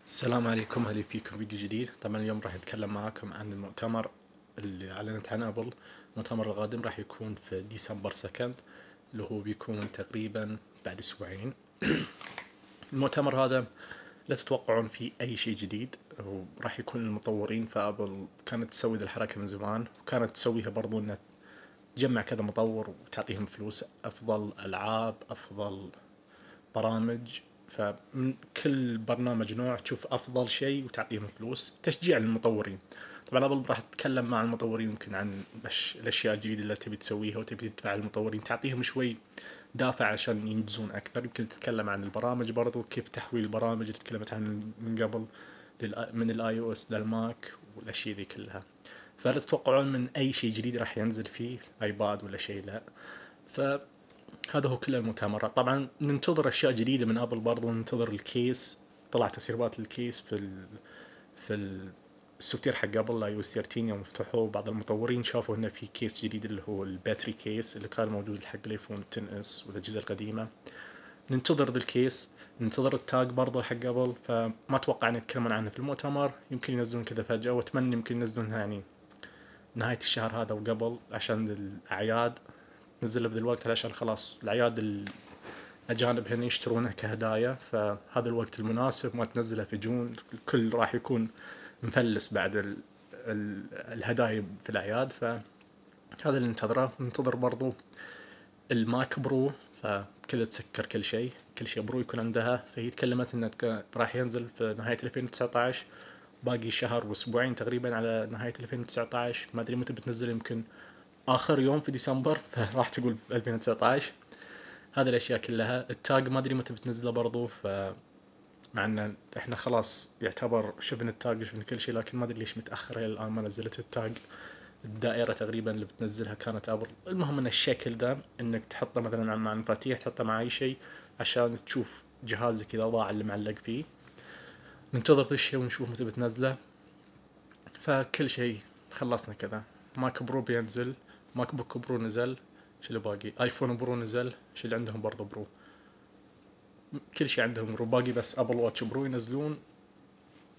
السلام عليكم، أهلا فيكم فيديو جديد. طبعا اليوم راح نتكلم معاكم عن المؤتمر اللي أعلنت عنه أبل. المؤتمر القادم راح يكون في ديسمبر 2 اللي هو بيكون تقريبا بعد أسبوعين. المؤتمر هذا لا تتوقعون فيه أي شيء جديد، وراح يكون المطورين فأبل كانت تسوي ذي الحركة من زمان، وكانت تسويها برضو إنها تجمع كذا مطور وتعطيهم فلوس، أفضل ألعاب، أفضل برامج. فمن كل برنامج نوع تشوف افضل شيء وتعطيهم فلوس تشجيع للمطورين. طبعا ابل راح تتكلم مع المطورين يمكن عن الاشياء الجديده اللي تبي تسويها وتبي تدفع المطورين، تعطيهم شوي دافع عشان ينجزون اكثر. يمكن تتكلم عن البرامج برضو، كيف تحويل البرامج اللي تكلمت عن من قبل من الاي او اس للماك والاشياء ذي كلها. فلا تتوقعون من اي شيء جديد راح ينزل فيه ايباد ولا شيء، لا. هذا هو كل المؤتمر. طبعا ننتظر اشياء جديده من ابل، برضو ننتظر الكيس. طلع تسريبات الكيس في السوفت وير حق ابل اي او اس 13 يوم فتحوه. بعض المطورين شافوا انه في كيس جديد اللي هو الباتري كيس اللي كان موجود حق الايفون 10 اس والاجهزه القديمه. ننتظر ذا الكيس، ننتظر التاج برضو حق ابل. فما اتوقع ان يتكلمون عنه في المؤتمر، يمكن ينزلون كذا فجاه، واتمنى يمكن ينزلونها يعني نهايه الشهر هذا وقبل عشان الاعياد. نزل بذا الوقت عشان خلاص الأعياد الأجانب هنا يشترونها كهدايا، فهذا الوقت المناسب. ما تنزلها في جون، الكل راح يكون مفلس بعد الهدايا في الأعياد. فهذا اللي ننتظره. ننتظر برضو الماك برو، فكذا تسكر كل شيء برو يكون عندها. فهي تكلمت انه راح ينزل في نهاية 2019، باقي شهر واسبوعين تقريبا على نهاية 2019. ما ادري متى بتنزل، يمكن اخر يوم في ديسمبر، فراح تقول 2019. هذه الاشياء كلها. التاج ما ادري متى بتنزله برضو، مع ان احنا خلاص يعتبر شفنا التاج شفنا كل شيء، لكن ما ادري ليش متاخر الى الان ما نزلت التاج. الدائره تقريبا اللي بتنزلها كانت ابل. المهم ان الشكل ده انك تحطه مثلا مع المفاتيح، تحطه مع اي شيء عشان تشوف جهازك اذا ضاع اللي معلق فيه. ننتظر ذا الشيء ونشوف متى بتنزله. فكل شيء خلصنا كذا. ماك برو بينزل، ماك بوك برو نزل، شو اللي باقي؟ ايفون برو نزل، شو اللي عندهم برضه برو. كل شيء عندهم برو، باقي بس ابل واتش برو ينزلون.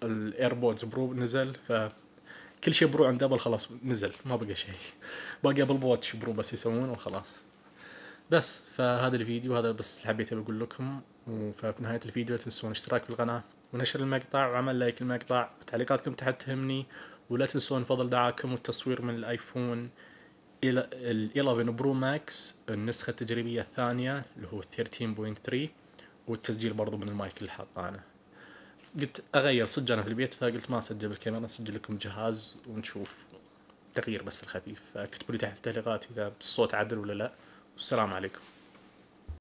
الايربودز برو نزل، فكل شيء برو عند ابل خلاص نزل، ما بقى شيء. باقي ابل واتش برو بس يسوون وخلاص. بس فهذا الفيديو هذا بس اللي حبيت اقول لكم. وفي نهاية الفيديو لا تنسون الاشتراك في القناة ونشر المقطع وعمل لايك المقطع، تعليقاتكم تحت تهمني. ولا تنسون فضل دعاكم والتصوير من الايفون ال 11 برو ماكس النسخة التجريبية الثانية اللي هو 13.3، والتسجيل برضو من المايك اللي حاطه انا. قلت اغير صدق انا في البيت، فقلت ما اسجل بالكاميرا، اسجل لكم جهاز ونشوف تغيير بس الخفيف. فاكتبوا لي تحت التعليقات اذا الصوت عدل ولا لا. والسلام عليكم.